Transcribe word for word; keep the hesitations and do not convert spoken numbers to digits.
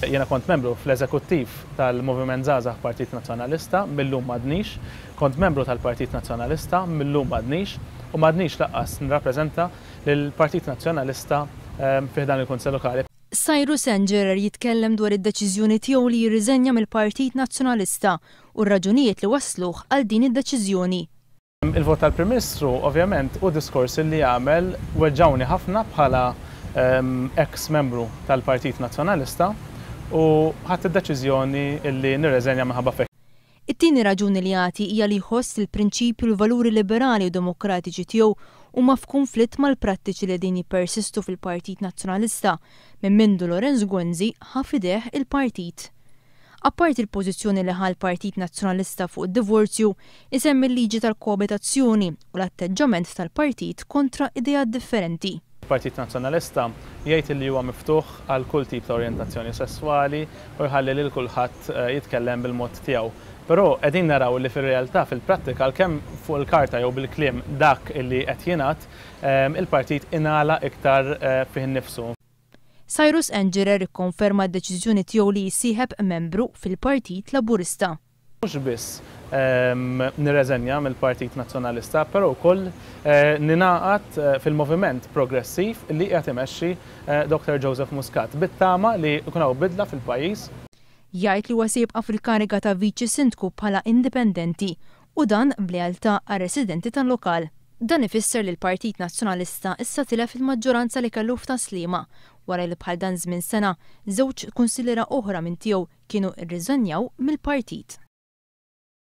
Jiena kont membru fl-eżekuttiv tal-Moviment Żgħażagħ Partit Nazzjonalista, millum m'għadnix, kont membru tal-Partit Nazzjonalista, millum m'għadnix, u m'għadnix lanqas nirrappreżenta lill-Partit Nazzjonalista fi ħdan il-Kunsill Lokali. Cyrus Engerer jitkellem dwar id-deċiżjoni tiegħu li jirriżenja mill-Partit Nazzjonalista u r-raġunijiet li wasluh għal din id-deċiżjoni. Il-vot tal-Prim Ministru ovvjament u diskors li għamel weġġawni ħafna bħala ex-membru tal-Partit Nazzjonalista u ħadt id-deċiżjoni li nirreżenja minħabba f'hekk. It-tieni raġuni li jagħti hija li jħoss il-prinċipju u l-valuri liberali u demokratiċi tiegħu huma f'kunflitt mal-prattiċi li din jippersistu fil-Partit Nazzjonalista minn mindu Lawrence Gonzi ħa f'idejh il-partit. Apparti il-pożizzjoni li ħa l-Partit Nazzjonalista fuq id-divorzju, isemmi l-liġi tal-koabitazzjoni u l-atteġġament tal-partit kontra ideat differenti. Partit Nazzjonalista jgħid li huwa miftuħ għal kull tip ta' orjentazzjoni sesswali u jħalli lil kulħadd jitkellem bil-mod tiegħu. Però qegħdin naraw li fir-realtà, fil-prattika, għalkemm fuq il-karta jew bil-kliem dak li qed jingħad, il-partit ingħalaq iktar fih innifsu. Cyrus Engerer ikkonferma d-deċiżjoni tiegħu li jissieħeb membru fil-Partit Laburista. Mhux biss nirreżenja mill-Partit Nazzjonalista, però wkoll ningħaqad fil-moviment progressiv li qed imexxi Doctor Joseph Muscat bit-tama li jkun hawn bidla fil-pajjiż. Jgħid li huwa se jibqa' fil-kariga ta' Viċi Sindku bħala indipendenti u dan b'lealtà għar-residenti tal-lokal. Dan ifisser li l-Partit Nazzjonalista issa tilef il-maġġoranza li kellu f'Tas-Sliema wara li bħal dan żmien sena żewġ kunsilliera oħra minn tiegħu kienu rriżenjaw mill-partit.